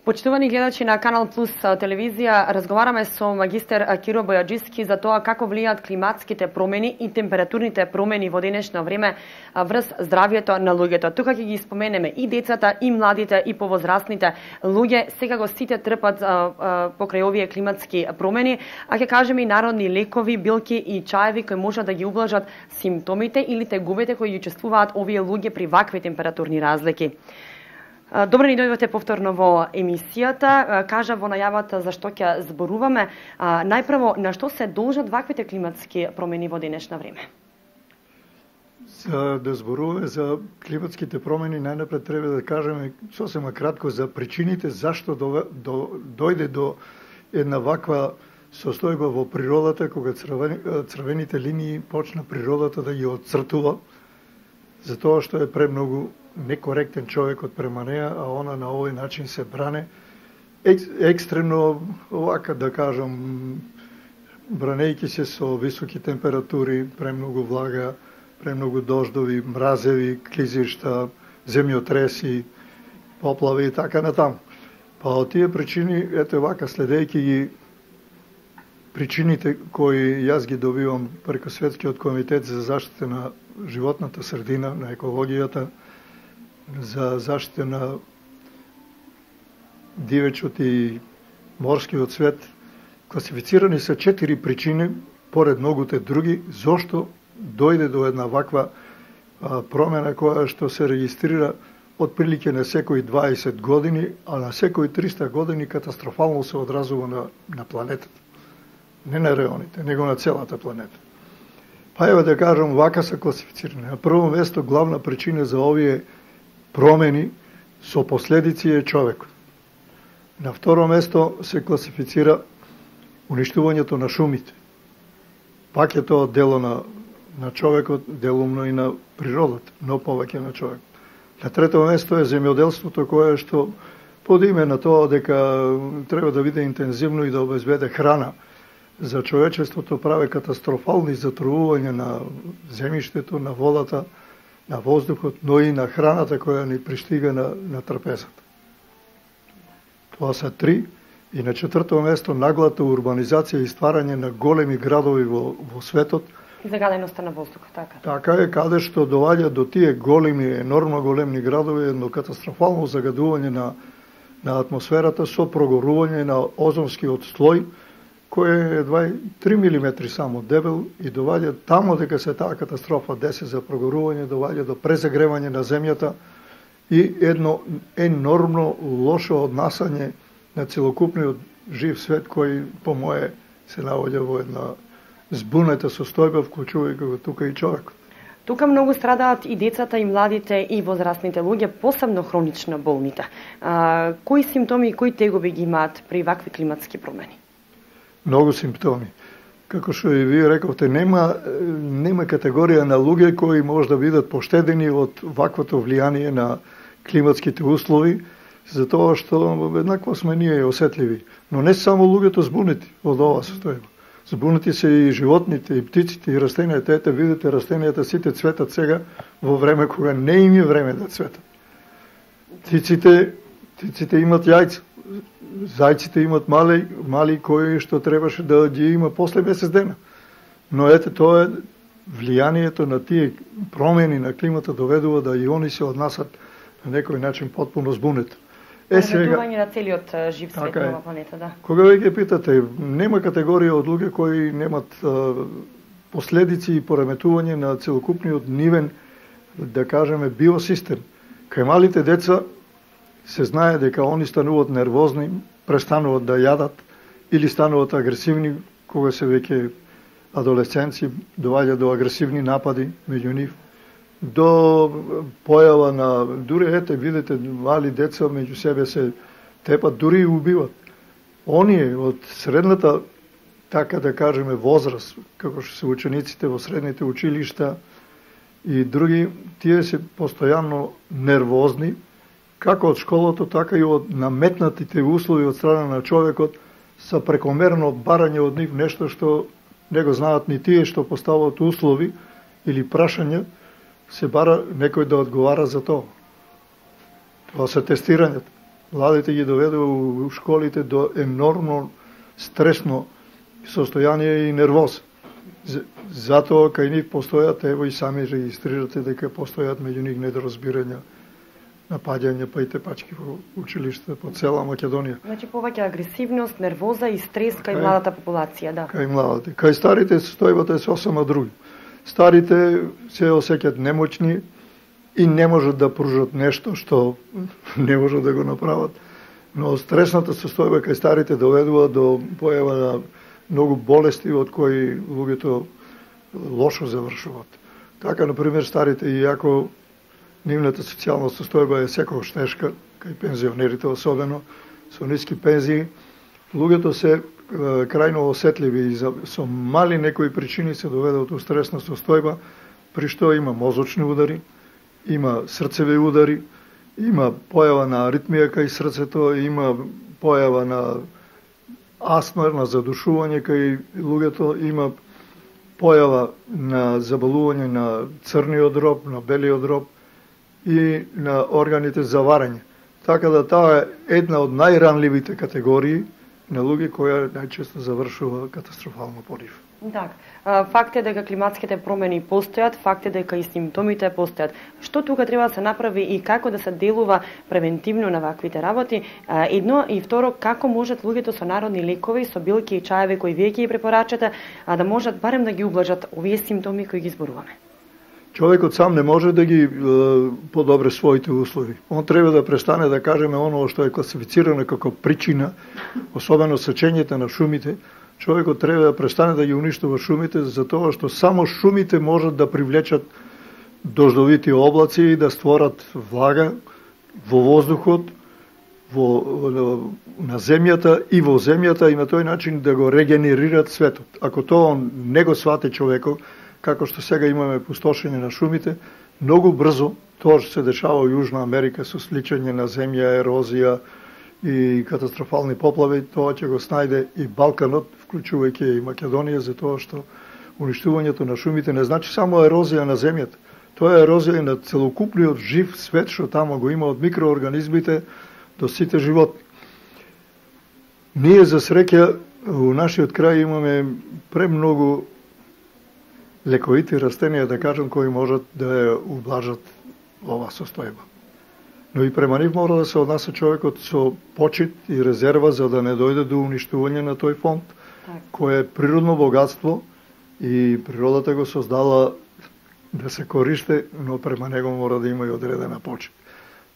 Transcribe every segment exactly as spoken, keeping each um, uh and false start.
Почитувани гледачи на Канал Плюс телевизија, разговараме со магистер Киро Бојаджиски за тоа како влијаат климатските промени и температурните промени во денешно време врз здравјето на луѓето. Тука ќе ги споменеме и децата, и младите, и повозрастните луѓе. Секако сите трпат покрај овие климатски промени, а ќе кажеме и народни лекови, билки и чаеви кои можат да ги ублажат симптомите или тегубите кои ги чувствуваат овие луѓе при вакви температурни разлики. Добре ни дојдовте повторно во емисијата. Кажа во најавата за што ќе зборуваме. Најпрво, на што се должат ваквите климатски промени во денешно време? За да зборуваме за климатските промени, најнапред треба да кажеме сосема кратко за причините зашто до, до, дојде до една ваква состојба во природата, кога црвени, црвените линии почна природата да ги отцртува, затоа што е премногу некоректен човекот према неа, а она на овој начин се бране ек, екстремно, овака да кажам, бранејќи се со високи температури, премногу влага, премногу дождови, мразеви, клизишта, земјотреси, поплави и така натаму. Па од тие причини, ете вака, следејќи ги причините кои јас ги добивам преку Светскиот комитет за заштита на животната средина, на екологијата, за заштита на дивечот и морскиот свет, класифицирани се четири причини, поред многуте други, зошто дојде до една ваква а, промена која што се регистрира отприлике на секои дваесет години, а на секои триста години катастрофално се одразува на, на планетата. Не на реоните, него на целата планета. Па ева да кажам, вака се класифицирани. На прво место, главна причина за овие промени со последици е човекот. На второ место се класифицира уништувањето на шумите. Пак е тоа дело на, на човекот, делумно и на природата, но повеќе на човек. На трето место е земјоделството, кое што под име на тоа дека треба да биде интензивно и да обезбеде храна за човечеството, праве катастрофални затрувувања на земјиштето, на водата, на воздухот, но и на храната која ни пристига на, на трпезата. Тоа се три. И на четврто место наглата урбанизација и стварање на големи градови во, во светот. И загаленоста на воздухот, така. Така е, каде што доваѓа до тие големи, енормно големи градови, едно катастрофално загадување на, на атмосферата со прогорување на озонскиот слој, кој е едва три милиметри само дебел и доваѓа тамо дека се таа катастрофа деси за прогорување, доваѓа до презагревање на земјата и едно енормно лошо однасање на целокупниот жив свет кој по мое се наоѓа во една збунета состојба, вклучувајќи го тука и човекот. Тука многу страдаат и децата, и младите, и возрастните луѓе, посебно хронично болните. А, кои симптоми и кои тегоби ги имаат при вакви климатски промени? Многу симптоми. Како што и вие рековте, нема, нема категорија на луѓе кои може да бидат поштедени од ваквото влијание на климатските услови, затоа што еднакво сме ние осетливи. Но не само луѓето збунети од ова состојба. Збунети се и животните, и птиците, и растенијата. Ете, видите, растенијата сите цветат сега во време кога не им е време да цветат. Птиците, птиците имат јајца. Зајците имат мали, мали кои што требаше да ги има после месец дена. Но ете, тоа е влијанието на тие промени на климата доведува да и они се однасат на некој начин потпуно збунет. Е, сега на целиот жив свет така на оваа планета, да. Кога ве ги питате, нема категорија од луѓе кои немат а, последици и пореметување на целокупниот нивен, да кажеме, биосистем. Кај малите деца се знае дека они стануваат нервозни, престануваат да јадат или стануваат агресивни кога се веќе адолесценци, доваѓа до агресивни напади меѓу нив, до појава на, дури ете, видите, мали деца меѓу себе се тепат, дури и убиват. Оние од средната, така да кажеме, возраст, како што се учениците во средните училишта и други, тие се постојано нервозни, како од школото, така и од наметнатите услови од страна на човекот, са прекомерно барање од нив нешто што не го знаат ни тие што постават услови или прашања, се бара некој да одговара за тоа. Тоа се тестирањата. Младите ги доведува у школите до енормно стресно состојание и нервоз. Затоа кај нив постојат, ево и сами регистрирате дека постојат меѓу нив недоразбирања, напаѓања, па и тепачки во училишта по цела Македонија. Значи повеќе агресивност, нервоза и стрес кај, кај младата популација, да. Кај младите. Кај старите состојбата е сосема други. Старите се осеќаат немоćни и не можат да пружат нешто што не можат да го направат. Но стресната состојба кај старите доведува до појава на многу болести од кои луѓето лошо завршуваат. Така, например, старите, иако нивната социјална состојба е секогаш тешка, кај пензионерите особено, со ниски пензии, луѓето се крајно осетливи и за, со мали некои причини се доведат до стресна состојба, при што има мозочни удари, има срцеви удари, има појава на аритмија кај срцето, има појава на астма, на задушување кај луѓето, има појава на заболување на црниот дроб, на белиот дроб и на органите за варење. Така да таа е една од најранливите категории на луѓе која најчесто завршува катастрофално по нив. Так, факт е дека климатските промени постојат, факт е дека и симптомите постојат. Што тука треба да се направи и како да се делува превентивно на ваквите работи? Едно и второ, како можат луѓето со народни лекови, со билки и чаеви кои вие ги препорачате, да можат барем да ги ублажат овие симптоми кои ги зборуваме? Човекот сам не може да ги е, подобре своите услови. Он треба да престане да кажеме оно што е класифицирано како причина, особено сечењето на шумите. Човекот треба да престане да ги уништува шумите, затоа што само шумите можат да привлечат дождовити облаци и да створат влага во воздухот, во, на земјата и во земјата и на тој начин да го регенерират светот. Ако тоа не го свати човекот, како што сега имаме пустошење на шумите, многу брзо тоа што се дешава во Јужна Америка со сличање на земја, ерозија и катастрофални поплави, тоа ќе го снајде и Балканот, вклучувајќи и Македонија, затоа што уништувањето на шумите не значи само ерозија на земјата. Тоа е ерозија на целокупниот жив свет што тамо го има, од микроорганизмите до сите животни. Ние за среќа во нашиот крај имаме премногу лековити растенија, да кажам, кои можат да ја ублажат ова состојба. Но и према нив мора да се однася човекот со почит и резерва за да не дојде до уништување на тој фонд, так, кој е природно богатство и природата го создала да се користи, но према него мора да има и одредена почит.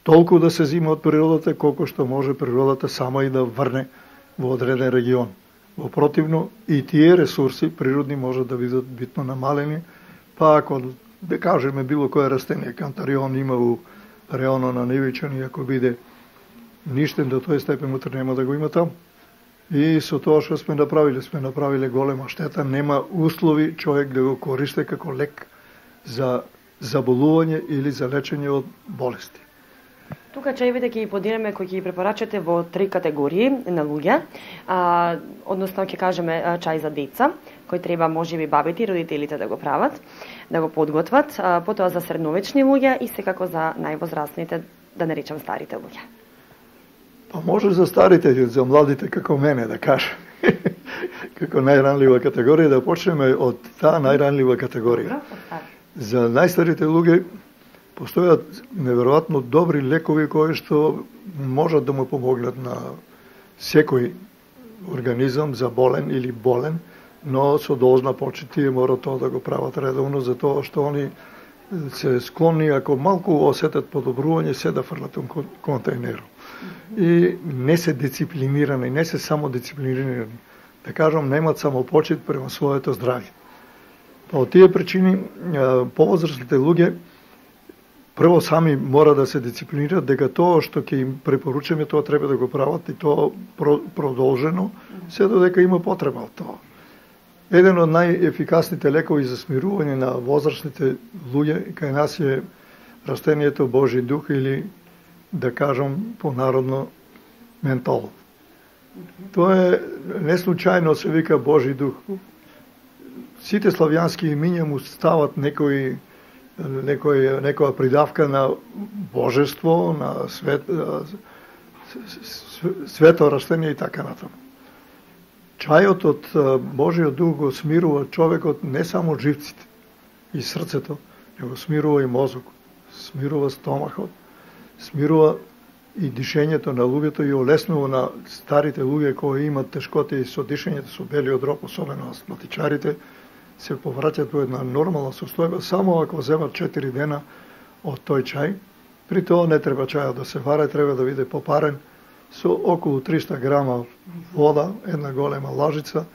Толку да се зима од природата, колку што може природата сама и да врне во одреден регион. Во противно, и тие ресурси природни можат да бидат битно намалени, па ако, да кажеме, било кое растение, кантарион има у реоно на Невичани, ако биде ништен до тој степен, утре нема да го има там. И со тоа што сме направиле, сме направиле голема штета, нема услови човек да го користи како лек за заболување или за лечење од болести. Тука чаевите ќе ги поделиме кои ќе ги препорачате во три категории на луѓе, а, односно ќе кажеме чај за деца, кој треба можеби бабите и родителите да го прават, да го подготват, а, потоа за средновечни луѓе и секако за највозрастните, да не речам старите луѓе. Па може за старите, за младите како мене да кажем. Како најранлива категорија, да почнеме од таа најранлива категорија. За најстарите луѓе постојат неверојатно добри лекови кои што можат да му помогнат на секој организам за болен или болен, но со должна почит тие мора тоа да го прават редовно, затоа што они се склонни, ако малку осетат подобрување, се да фрлат во контейнерот. И не се дисциплинирани, не се само дисциплинирани. Да кажам, немат само почит према своето здравје. Па од тие причини, повозрастните луѓе прво сами мора да се дисциплинираат дека тоа што ќе им препоручаме, тоа треба да го прават и тоа продолжено, се додека има потреба од тоа. Еден од најефикасните лекови за смирување на возрастните луѓе кај нас е растението Божи дух или, да кажам понародно, ментол. Тоа е не случајно се вика Божи дух. Сите славјански имиња му стават некои некој некоја придавка на божество, на свет, свето растение и така натаму. Чајот од Божиот дух го смирува човекот не само живците и срцето, него смирува и мозок, смирува стомахот, смирува и дишењето на луѓето и олеснува на старите луѓе кои имат тешкоти со дишењето, со белиот дроб, особено астматичарите, се повраќаат во една нормална состојба само ако земат четири дена од тој чај. При тоа не треба чајот да се варе, треба да биде попарен со околу триста грама вода, една голема лажица,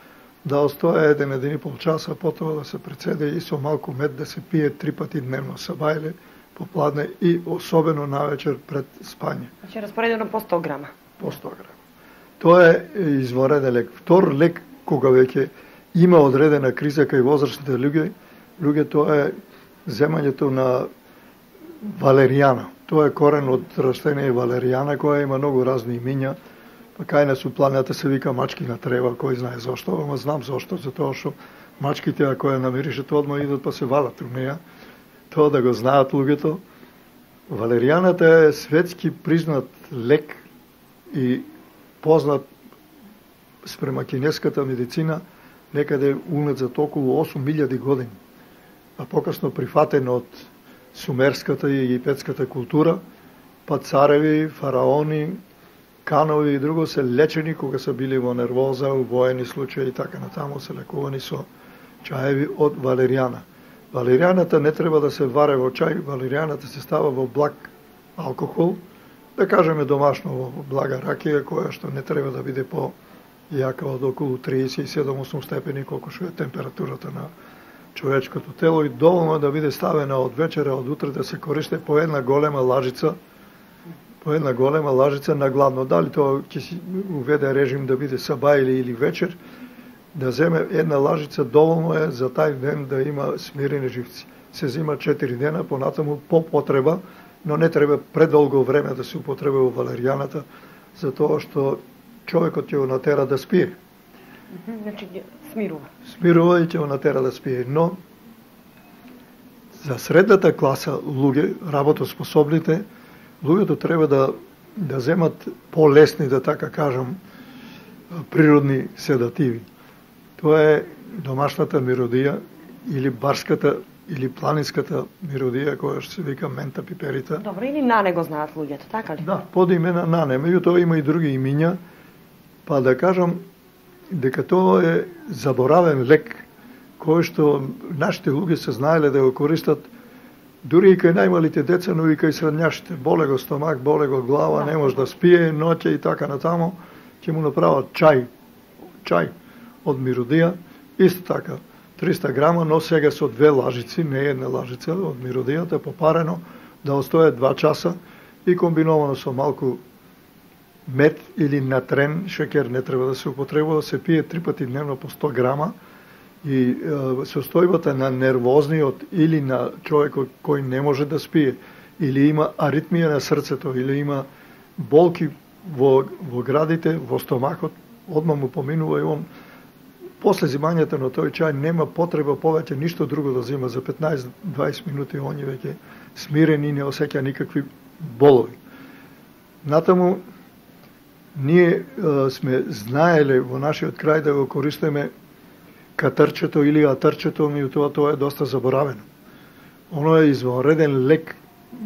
да остоја еден, еден и пол часа, потоа да се прецеде и со малку мед да се пие три пати дневно, сабајле, попладне и особено навечер пред спање. Значи распоредено по сто грама. По сто грама. Тоа е извореден лек. Втор лек кога веќе има одредена криза кај возрастните луѓе, луѓе тоа е земањето на валеријана. Тоа е корен од растение валеријана, која има многу разни имиња. Па кај нас у планината се вика мачкина трева, кој знае зошто, ама знам зошто, затоа што мачките ако ја намиришат одма идат па се валат у неја. Тоа да го знаат луѓето. Валеријаната е светски признат лек и познат спрема кинеската медицина некаде уназад околу осум илјади години. А покасно прифатен од сумерската и египетската култура, па цареви, фараони, канови и друго се лечени кога се били во нервоза, у воени случаи и така натаму се лекувани со чаеви од валеријана. Валеријаната не треба да се варе во чај, валеријаната се става во благ алкохол, да кажеме домашно во блага ракија, која што не треба да биде по јака од околу триесет и седум до осум степени, колку што е температурата на човечкото тело, и доволно да биде ставена од вечера, од утре да се користи по една голема лажица, по една голема лажица на гладно. Дали тоа ќе си уведе режим да биде сабајле или вечер, да земе една лажица доволно е за тај ден да има смирени живци. Се зима четири дена, понатаму по потреба, но не треба предолго време да се употребува валеријаната, затоа што човекот ќе го натера да спие. Значи смирува. Смирува и ќе го натера да спие, но за средната класа луѓе, работоспособните, луѓето треба да да земат полесни, да така кажам, природни седативи. Тоа е домашната миродија или барската или планинската миродија, која што се вика мента пиперита. Добро, или нане го знаат луѓето, така ли? Да, под имена нане, меѓутоа има и други имиња, па да кажам дека тоа е заборавен лек, кој што нашите луѓе се знаеле да го користат дури и кај најмалите деца, но и кај средњашите. Боле го стомак, боле го глава, не може да спие ноќе и така натаму, ќе му направат чај, чај од миродија, исто така, триста грама, но сега со две лажици, не една лажица од миродијата, попарено, да остоje два часа и комбиновано со малку мед или натрен, шекер не треба да се употребува, се пие три пати дневно по сто грама и е, состојбата на нервозниот или на човекот кој не може да спие, или има аритмија на срцето, или има болки во, во градите, во стомакот, одма му поминува и он после зимањето на тој чај нема потреба повеќе ништо друго да зима. За петнаесет до дваесет минути он е веќе смирен и не осеќа никакви болови. Натаму, ние е, сме знаеле во нашиот крај да го користиме катарчето или атарчето, меѓутоа тоа е доста заборавено. Оно е извонреден лек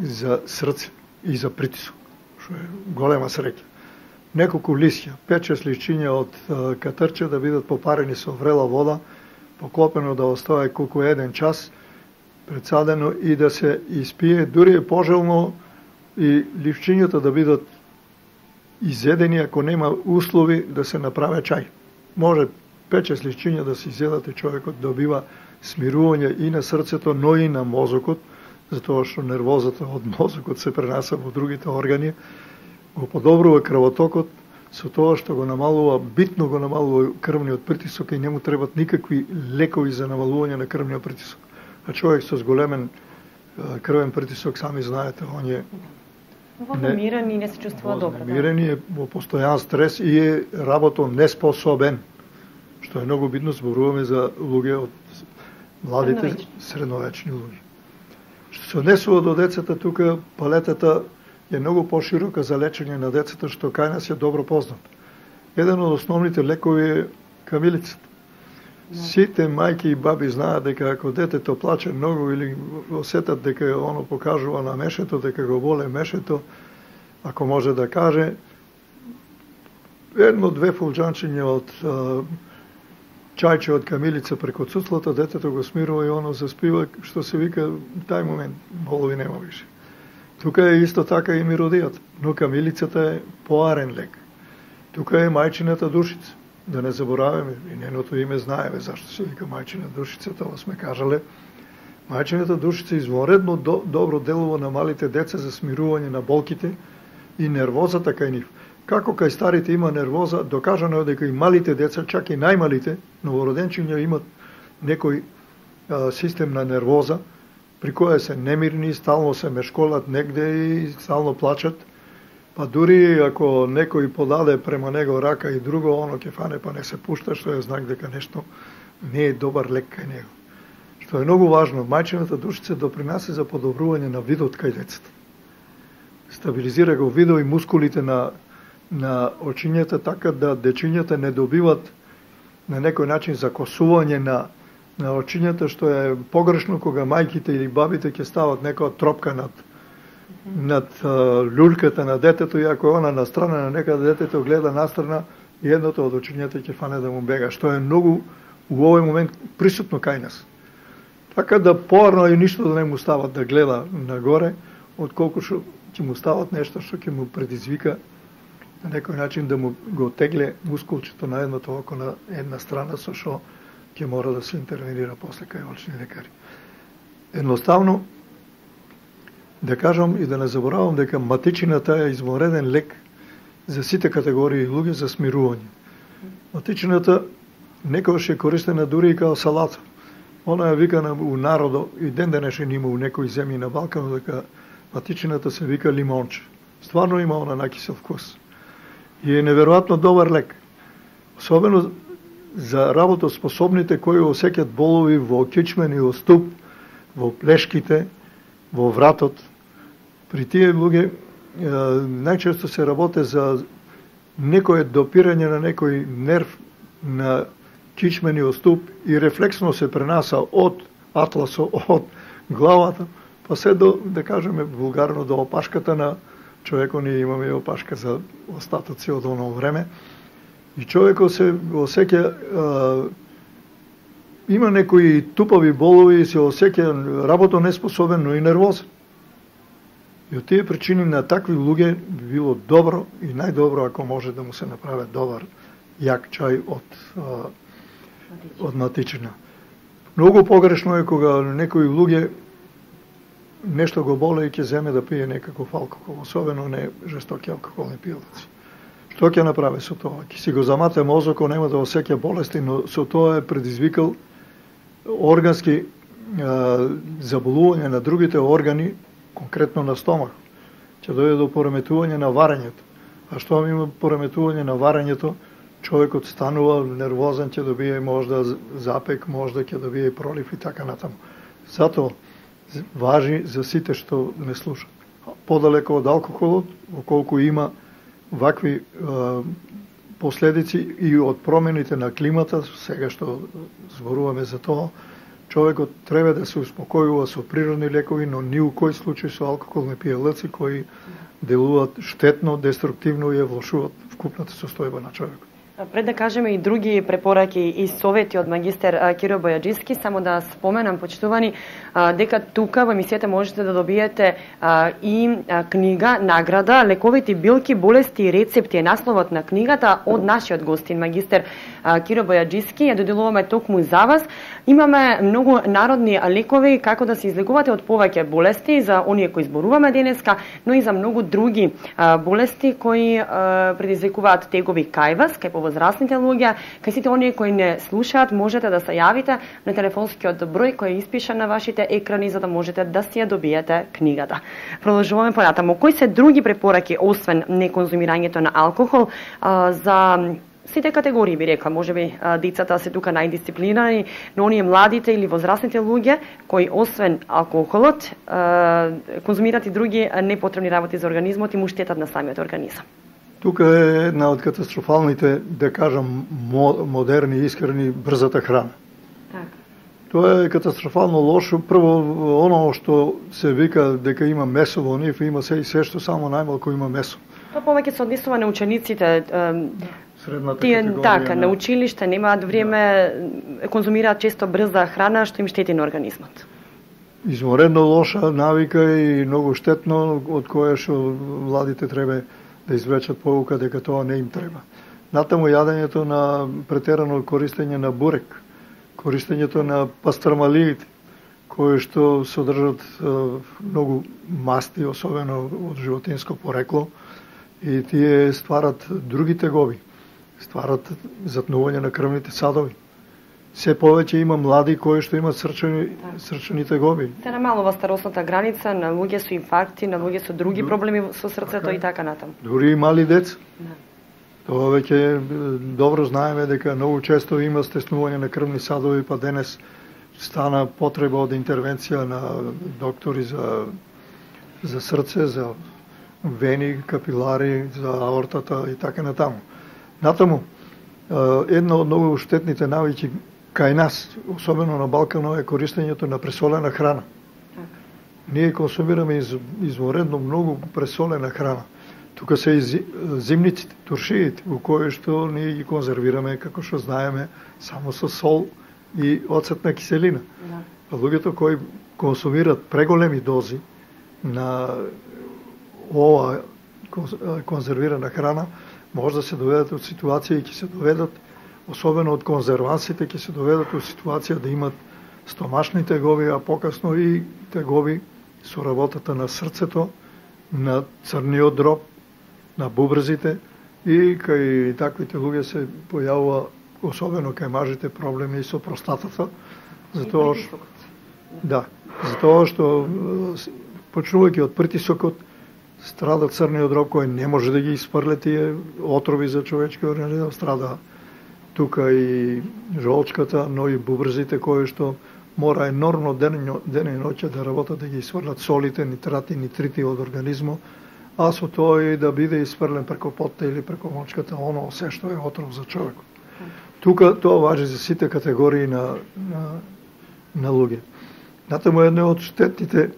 за срце и за притисок, што е голема среќа. Неколку лисја, пет-шест лисчиња од е, катарче да бидат попарени со врела вода, поклопено да остае колку еден час, предсадено и да се испие, дури е пожелно и лисчињата да бидат изедени ако нема услови да се направи чај. Може пет-шест лисчиња да се изедат и човекот добива смирување и на срцето, но и на мозокот, затоа што нервозата од мозокот се пренаса во другите органи, го подобрува крвотокот со тоа што го намалува, битно го намалува крвниот притисок и не му требат никакви лекови за намалување на крвниот притисок. А човек со зголемен крвен притисок, сами знаете, он е вознемирен и не се чувствува добро. Вознемирен и е во постојан стрес и е работон неспособен, што е многу битно, зборуваме за луѓе од младите средновечни луѓе. Што се однесува до децата, тука палетата е многу поширока за лечење на децата, што кај нас е добро познат. Еден од основните лекови е камилицата. Сите мајки и баби знаат дека ако детето плаче многу или осетат дека оно покажува на мешето, дека го боле мешето, ако може да каже, едно-две фулџанчиња од а, чајче од камилица преку цуцлата, детето го смирува и оно заспива, што се вика, тај момент болови нема више. Тука е исто така и миродијата, но камилицата е поарен лек. Тука е мајчината душица. Да не забораваме, и неното име знаеме зашто се вика мајчина душица, тоа сме кажале. Мајчината душица извонредно до, добро делува на малите деца за смирување на болките и нервозата кај нив. Како кај старите има нервоза, докажано е дека и малите деца, чак и најмалите, новороденчиња имат некој а, систем на нервоза, при која се немирни, стално се мешколат негде и стално плачат. Па дури ако некој подаде према него рака и друго, оно ќе фане па не се пушта, што е знак дека нешто не е добар лек кај него. Што е многу важно, мајчината душица допринесе за подобрување на видот кај децата. Стабилизира го видо и мускулите на, на очињата, така да дечињата не добиват на некој начин закосување на, на очињата, што е погрешно кога мајките или бабите ќе стават некоја тропка над над а, люлката на детето, и ако е она на страна на некаде, детето гледа настрана и едното од очињата ќе фане да му бега, што е многу у овој момент присутно кај нас. Така да поарно и ништо да не му стават да гледа нагоре, отколку што ќе му стават нешто што ќе му предизвика на некој начин да му го тегле мускулчето на едното око на една страна, со што ќе мора да се интервенира после кај очни лекари. Едноставно, да кажам и да не заборавам дека матичината е извонреден лек за сите категории луѓе за смирување. Матичината некогаш е користена дури и као салата. Она е викана у народо, и ден денешен има у некои земји на Балкан, дека матичината се вика лимонче. Стварно има она накисел вкус. И е неверојатно добар лек. Особено за работоспособните кои осеќат болови во кичмен и во ступ, во плешките, во вратот. При тие луѓе најчесто се работе за некое допирање на некој нерв на кичмениот ступ и рефлексно се пренаса од атласо, од главата, па се до, да кажеме вулгарно, до опашката на човекот. Ние имаме опашка за остатоци од оно време. И човекот се осеќа, има некои тупави болови и се осеќа работо неспособен, но и нервозен. И од тие причини на такви луѓе би било добро и најдобро ако може да му се направи добар јак чај од, од матичина. Многу погрешно е кога некои луѓе нешто го боле и ќе земе да пие некаков алкохол, особено не жестоки алкохолни пијалци. Што ќе направи со тоа? Ќе си го замате мозокот, нема да осеќа болести, но со тоа е предизвикал органски а, заболување на другите органи, конкретно на стомах. Ќе дојде до пореметување на варењето. А што има пореметување на варењето, човекот станува нервозен, ќе добие можда запек, можда ќе добие пролив и така натаму. Затоа важи за сите што не слушат. Подалеко од алкохолот, околку има вакви е, последици и од промените на климата, сега што зборуваме за тоа, човекот треба да се успокојува со природни лекови, но ни у кој случај со алкохолни пијалци кои делуваат штетно, деструктивно и ја влошуваат вкупната состојба на човекот. Пред да кажеме и други препораки и совети од магистер Киро Бојаджиски, само да споменам, почитувани, дека тука во емисијата можете да добиете и книга, награда, лековите билки, болести и рецепти е насловот на книгата од нашиот гостин, магистер Киро Бојаджиски. Ја доделуваме токму за вас. Имаме многу народни лекови како да се излекувате од повеќе болести за оние кои зборуваме денеска, но и за многу други болести кои предизвикуваат тегови кај вас, кај возрастните луѓе. Кај сите оние кои не слушаат, можете да се јавите на телефонскиот број кој е испишан на вашите екрани за да можете да си ја добиете книгата. Продолжуваме понатаму. Кои се други препораки освен неконзумирањето на алкохол за сите категории би рекла, можеби децата се тука најдисциплинирани, но оние младите или возрастните луѓе кои освен алкохолот конзумираат и други непотребни работи за организмот и му штетат на самиот организам. Тука е една од катастрофалните, да кажам, модерни, искрени, брзата храна. Так. Тоа е катастрофално лошо. Прво, оно што се вика дека има месо во нив, има се и се што само најмалку има месо. Тоа повеќе се однесува на учениците. Средната Тие категорија. така, на... на училиште немаат време, да. конзумираат често брза храна што им штети на организмот. Изморедно лоша навика и многу штетно, од кое што младите треба да извлечат поука дека тоа не им треба. Натаму јадењето на претерано користење на бурек, користењето на пастрмалиите, кои што содржат многу масти, особено од животинско порекло, и тие стварат други тегови, стварат затнување на крвните садови. Се повеќе има млади кои што имат срчани, срчани тегови. Се намалува старосната граница, на луѓе со инфаркти, на луѓе со други проблеми со срцето така, и така натаму. Дури и мали деца. Да. Тоа веќе добро знаеме дека многу често има стеснување на крвни садови, па денес стана потреба од интервенција на доктори за за срце, за вени, капилари, за аортата и така натаму. Натаму, една од многу штетните навики кај нас, особено на Балканот, е користењето на пресолена храна. Так. Ние консумираме из, изворедно многу пресолена храна. Тука се и зимниците, туршиите, во кои што ние ги конзервираме, како што знаеме, само со сол и оцетна киселина. Да. Луѓето кои консумираат преголеми дози на ова конзервирана храна, може да се доведат од ситуација и ќе се доведат, особено од конзервансите, ќе се доведат од ситуација да имат стомашни тегови, а покасно и тегови со работата на срцето, на црниот дроб, на бубрезите, и кај таквите луѓе се појавува, особено кај мажите, проблеми со простатата, затоа што да, затоа што почнувајќи од притисокот страда црниот дроб кој не може да ги испрле тие отрови за човечкиот организам, страда тука и жолчката, но и бубрезите кои што мора енормно ден, ден и ноќе да работат да ги испрлат солите, нитрати, нитрити од организмот, а со тоа и да биде испрлен преко потта или преко мочката оно се што е отров за човекот. Тука тоа важи за сите категории на, на, на луѓе. Натаму едно од штетните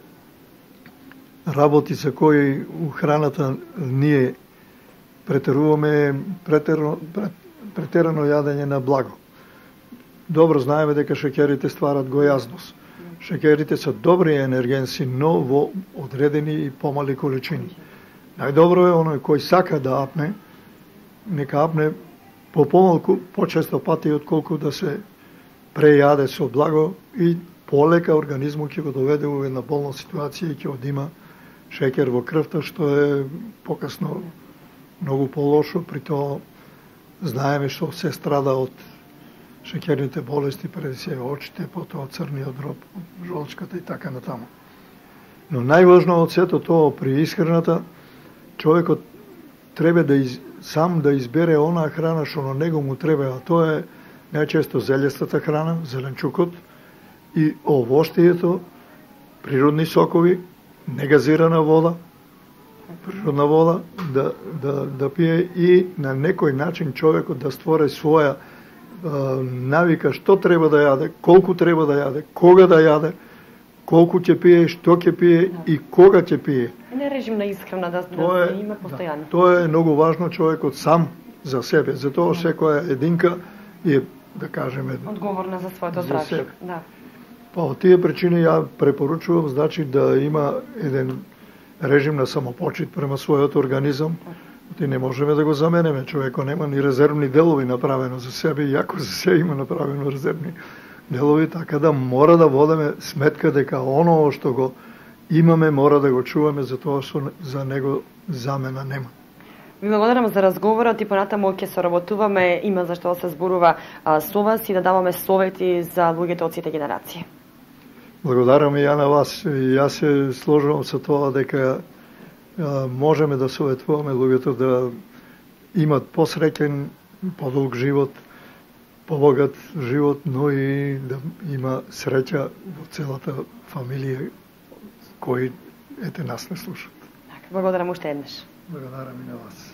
работи за кои у храната ние претеруваме претерано, претерано јадење на благо. Добро знаеме дека шеќерите стварат гојазност. Шеќерите се добри енергенси, но во одредени и помали количини. Најдобро е оној кој сака да апне, нека апне по помалку, почесто пати отколку да се прејаде со благо и полека организмот ќе го доведе во една болна ситуација и ќе одима шеќер во крвта, што е покасно многу полошо, при тоа знаеме што се страда од шеќерните болести, преди се очите, потоа црниот дроб, жолчката и така натаму. Но најважно од сето тоа при исхраната, човекот треба да из, сам да избере онаа храна што на него му треба, а тоа е најчесто зелестата храна, зеленчукот и овоштието, природни сокови, негазирана вода, природна вода, да, да, да пие и на некој начин човекот да створи своја а, навика што треба да јаде, колку треба да јаде, кога да јаде, колку ќе пие, што ќе пие и кога ќе пие. Не режим на исхрана да, тоа да е, има постојано. Да, тоа е многу важно човекот сам за себе, затоа секоја единка е, да кажеме, одговорна за своето здравје. Да. Па од тие причини ја препоручувам, значи да има еден режим на самопочит према својот организам. Ти не можеме да го заменеме, човекот нема ни резервни делови направено за себе, иако за себе има направено резервни делови, така да мора да водеме сметка дека оно што го имаме мора да го чуваме, за тоа што за него замена нема. Ви благодарам за разговорот и понатаму ќе соработуваме, има за што да се зборува а, со вас и да даваме совети за луѓето од сите генерации. Благодарам и ја на вас. Јас се сложувам со тоа дека а, можеме да советуваме луѓето да имат посреќен подолг живот, побогат живот, но и да има среќа во целата фамилија кои ете нас не слушат. Благодарам уште еднаш. Благодарам и на вас.